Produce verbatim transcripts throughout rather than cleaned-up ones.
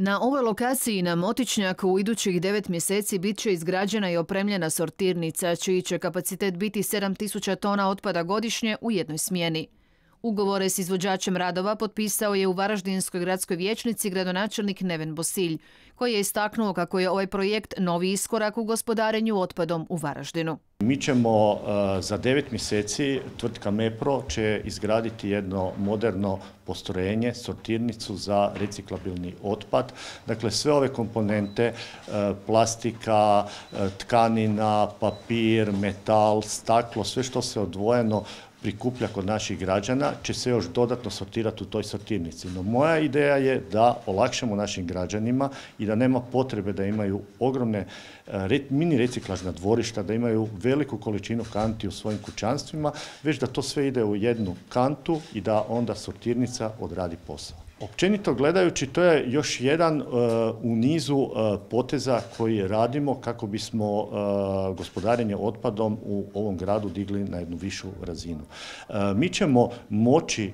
Na ovoj lokaciji na Motičnjaku u idućih devet mjeseci bit će izgrađena i opremljena sortirnica, čiji će kapacitet biti sedam tisuća tona otpada godišnje u jednoj smjeni. Ugovore s izvođačem radova potpisao je u Varaždinskoj gradskoj vijećnici gradonačelnik Neven Bosilj, koji je istaknuo kako je ovaj projekt novi iskorak u gospodarenju otpadom u Varaždinu. Mi ćemo za devet mjeseci, tvrtka MEPRO će izgraditi jedno moderno postrojenje, sortirnicu za reciklabilni otpad. Dakle, sve ove komponente, plastika, tkanina, papir, metal, staklo, sve što se odvojeno prikuplja kod naših građana će se još dodatno sortirati u toj sortirnici. No moja ideja je da olakšamo našim građanima i da nema potrebe da imaju ogromne mini reciklažna dvorišta, da imaju veliku količinu kanti u svojim kućanstvima, već da to sve ide u jednu kantu i da onda sortirnica odradi posao. Općenito gledajući, to je još jedan uh, u nizu uh, poteza koji radimo kako bismo uh, gospodarenje otpadom u ovom gradu digli na jednu višu razinu. Uh, mi ćemo moći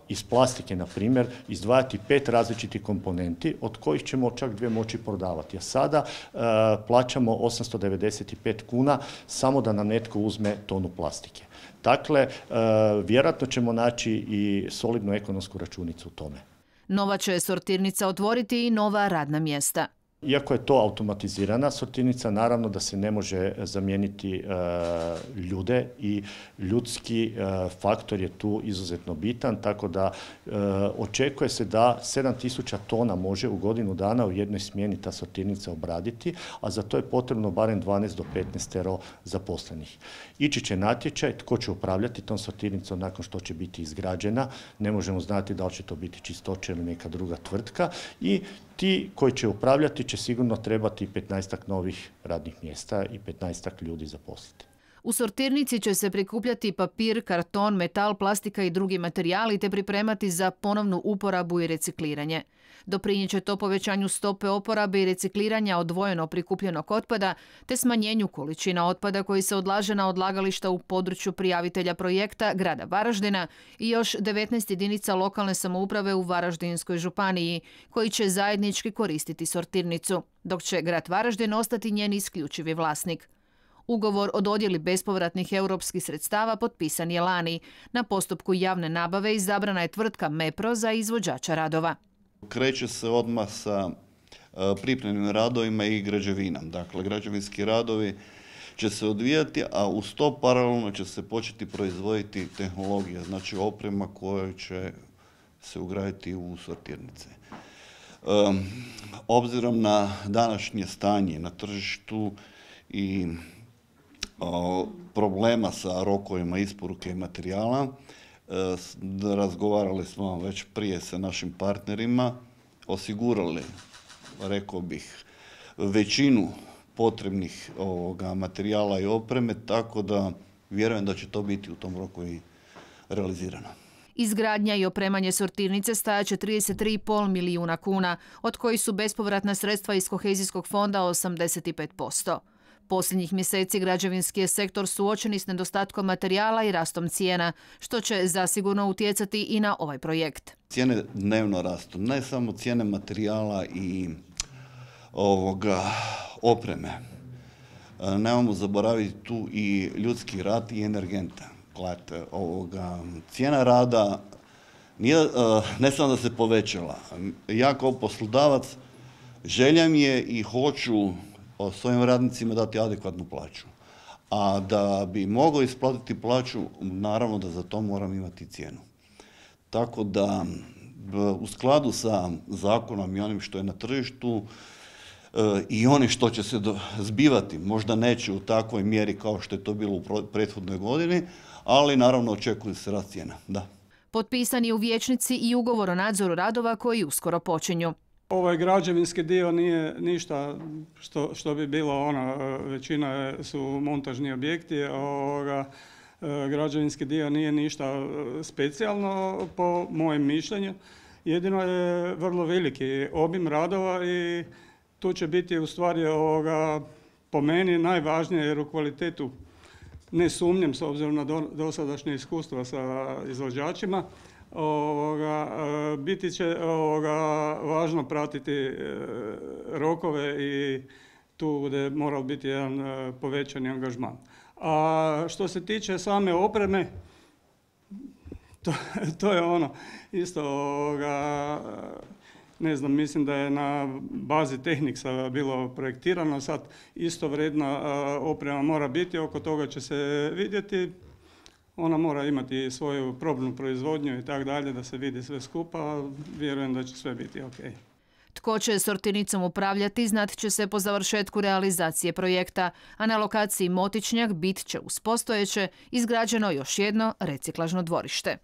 iz plastike, na primjer, izdvajati pet različitih komponenti, od kojih ćemo čak dvije moći prodavati. A sada uh, plaćamo osamsto devedeset pet kuna samo da nam netko uzme tonu plastike. Dakle, uh, vjerojatno ćemo naći i solidnu ekonomsku računicu u tome. Nova će sortirnica otvoriti i nova radna mjesta. Iako je to automatizirana sortirnica, naravno da se ne može zamijeniti e, ljude i ljudski e, faktor je tu izuzetno bitan, tako da e, očekuje se da sedam tisuća tona može u godinu dana u jednoj smjeni ta sortirnica obraditi, a za to je potrebno barem dvanaest do petnaest zaposlenih. Ići će natječaj tko će upravljati tom sortirnicom nakon što će biti izgrađena, ne možemo znati da li će to biti Čistoće ili neka druga tvrtka i ti koji će upravljati će sigurno trebati petnaestak novih radnih mjesta i petnaestak ljudi zaposliti. U sortirnici će se prikupljati papir, karton, metal, plastika i drugi materijali te pripremati za ponovnu uporabu i recikliranje. Doprinijet će to povećanju stope oporabe i recikliranja odvojeno prikupljenog otpada te smanjenju količina otpada koji se odlaže na odlagališta u području prijavitelja projekta grada Varaždina i još devetnaest jedinica lokalne samouprave u Varaždinskoj županiji koji će zajednički koristiti sortirnicu, dok će grad Varaždin ostati njen isključivi vlasnik. Ugovor o dodjeli bespovratnih europskih sredstava potpisan je lani. Na postupku javne nabave izabrana je tvrtka MEPRO za izvođača radova. Kreće se odmah sa pripremnim radovima i građevinom. Dakle, građevinski radovi će se odvijati, a uz to paralelno će se početi proizvoditi tehnologija, znači oprema koja će se ugraditi u sortirnice. Um, obzirom na današnje stanje na tržištu i o, problema sa rokovima isporuke materijala, razgovarali smo već prije sa našim partnerima, osigurali, rekao bih, većinu potrebnih ovoga materijala i opreme, tako da vjerujem da će to biti u tom roku i realizirano. Izgradnja i opremanje sortirnice stajaće trideset tri zarez pet milijuna kuna, od kojih su bespovratna sredstva iz kohezijskog fonda osamdeset pet posto. Posljednjih mjeseci građevinski je sektor suočeni s nedostatkom materijala i rastom cijena, što će zasigurno utjecati i na ovaj projekt. Cijene dnevno rastu, ne samo cijene materijala i ovoga, opreme. Nemamo zaboraviti tu i ljudski rad i energenta. Gledajte, ovoga, cijena rada nije, ne samo da se povećala. Ja kao poslodavac želja mi je i hoću o svojim radnicima dati adekvatnu plaću. A da bi mogao isplatiti plaću, naravno da za to moram imati cijenu. Tako da u skladu sa zakonom i onim što je na tržištu i onim što će se zbivati, možda neće u takvoj mjeri kao što je to bilo u prethodnoj godini, ali naravno očekuje se rast cijena. Da. Potpisan je u vijećnici i ugovor o nadzoru radova koji uskoro počinju. Ovaj građevinski dio nije ništa što, što bi bilo ono, većina su montažni objekti, ovoga, građevinski dio nije ništa specijalno po mojem mišljenju. Jedino je vrlo veliki obim radova i tu će biti u stvari ovoga, po meni najvažnije jer u kvalitetu ne sumnjam s obzirom na dosadašnje iskustva sa izvođačima, Ovoga, biti će ovoga, važno pratiti rokove i tu gdje mora biti jedan povećani angažman. A što se tiče same opreme, to, to je ono isto ovoga, ne znam, mislim da je na bazi Tehniksa bilo projektirano, sad isto vredna oprema mora biti, oko toga će se vidjeti. Ona mora imati svoju probnu proizvodnju i tako dalje, da se vidi sve skupa, vjerujem da će sve biti ok. Tko će sortirnicom upravljati, znat će se po završetku realizacije projekta, a na lokaciji Motičnjak bit će uz postojeće izgrađeno još jedno reciklažno dvorište.